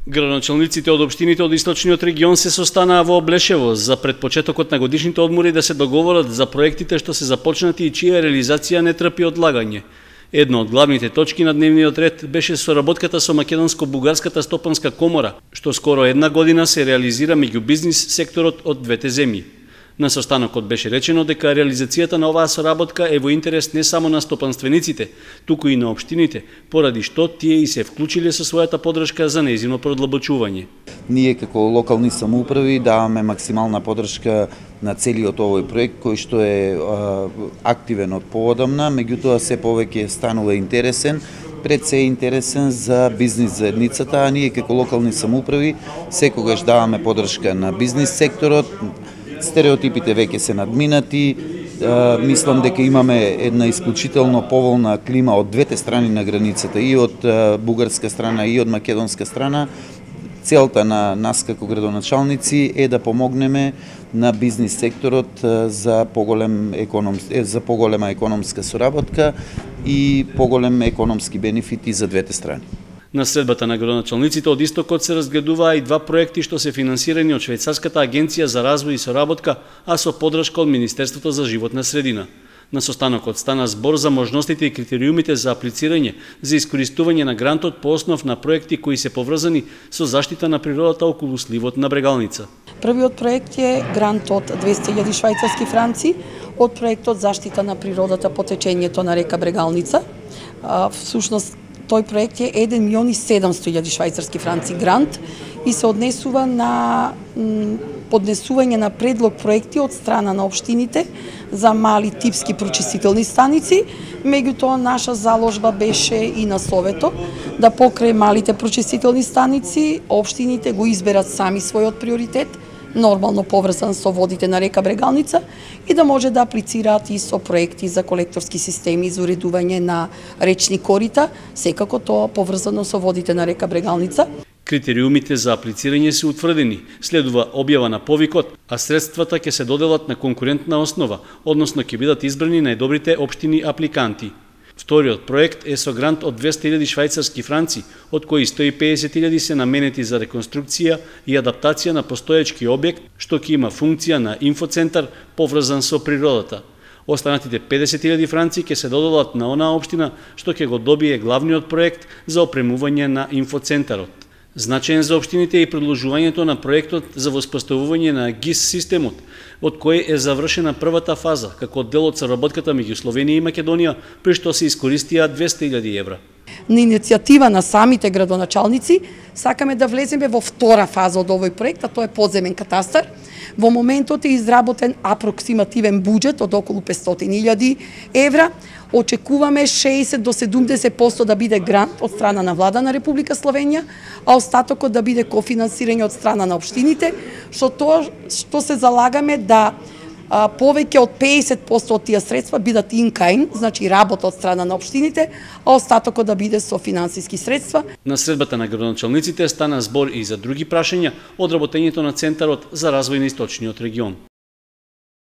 Градоначалниците од општините од источниот регион се состанаа во Облешево за пред почетокот на годишните одмори да се договорат за проектите што се започнати и чија реализација не трпи одлагање. Едно од главните точки на дневниот ред беше соработката со Македонско-бугарската стопанска комора, што скоро една година се реализира меѓу бизнис секторот од двете земји. На состанокот беше речено дека реализацијата на оваа соработка е во интерес не само на стопанствениците, туку и на општините, поради што тие и се вклучиле со својата поддршка за нејзино продлабочување. Ние како локални самоуправи даваме максимална поддршка на целиот овој проект кој што е активен од поодамна, меѓутоа се повеќе станува интересен, пред се интересен за бизнис заедницата, а ние како локални самоуправи секогаш даваме поддршка на бизнис секторот. Стереотипите веќе се надминати, мислам дека имаме една исклучително поволна клима од двете страни на границата, и од бугарска страна и од македонска страна. Целта на нас како градоначалници е да помогнеме на бизнис секторот за поголема економска соработка и поголем економски бенефити за двете страни. На средбата на градоначалниците од Истокот се разгледуваа и два проекти што се финансирани од Швајцарската агенција за развој и соработка, а со поддршка од Министерството за животна средина. На состанокот стана збор за можностите и критериумите за аплицирање за искористување на грантот по основ на проекти кои се поврзани со заштита на природата околу сливот на Брегалница. Првиот проект е грант од 200.000 швајцарски франци од проектот заштита на природата по течењето на река Брегалница. Всушност тој проект е 1.700.000 швајцарски франци грант и се однесува на поднесување на предлог проекти од страна на општините за мали типски прочистителни станици. Меѓутоа наша заложба беше и на Советот да покрај малите прочистителни станици општините го изберат сами својот приоритет, нормално поврзан со водите на река Брегалница, и да може да аплицираат и со проекти за колекторски системи за уредување на речни корита, секако тоа поврзано со водите на река Брегалница. Критериумите за аплицирање се утврдени, следува објава на повикот, а средствата ќе се доделат на конкурентна основа, односно ќе бидат избрани најдобрите општини апликанти. Вториот проект е со грант од 200.000 швајцарски франци, од кои 150.000 се наменети за реконструкција и адаптација на постоечки објект, што ќе има функција на инфоцентар поврзан со природата. Останатите 50.000 франци ќе се доделат на онаа општина што ќе го добие главниот проект за опремување на инфоцентарот. Значаен за општините е и продолжувањето на проектот за воспоставување на ГИС системот, од кој е завршена првата фаза, како дел од соработката меѓу Словенија и Македонија, при што се искористија 200.000 евра. На иницијатива на самите градоначалници сакаме да влеземе во втора фаза од овој проект, а тоа е подземен катастар. Во моментот е изработен апроксимативен буџет од околу 500.000 евра. Очекуваме 60 до 70% да биде грант од страна на влада на Република Словенија, а остатокот да биде кофинансирање од страна на општините, што се залагаме да повеќе од 50% од тие средства бидат инкаин, значи работа од страна на општините, а остатокот да биде со финансиски средства. На средбата на градоначалниците стана збор и за други прашања од работењето на Центарот за развој на источниот регион.